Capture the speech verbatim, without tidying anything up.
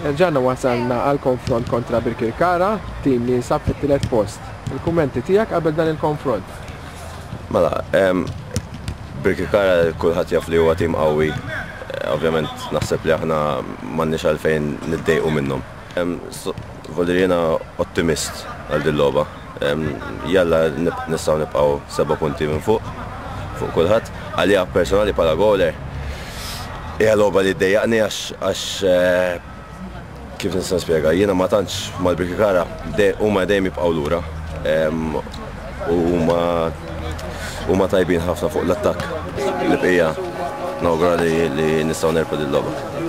Erġajna wasalna għal konfront kontra Birkirkara, tim li jinsab fit-tielet post. Il-kummenti tiegħek qabel dan il-konfront? Mela, Birkirkara kulħadd jaf li huwa tim qawwi. Eh, ovvjament naħseb li aħna m'għandniex għalfejn niddejqu minnhom. Voldiri jiena ottimist għal din logħba. Jalla nistgħu nibqgħu seba' punti minn fuq fuq kulħadd. Għalija personali bħala goaler hija logħba li ddejjaqni għax eh, kif nista' nispjega, jiena ma tantx mal-Birkirkara huma dejjem jibqgħu lura. U huma huma tajbin ħafna fuq l-attakk. L-bqija nawgura li, li nistgħu nerbħu din logħba.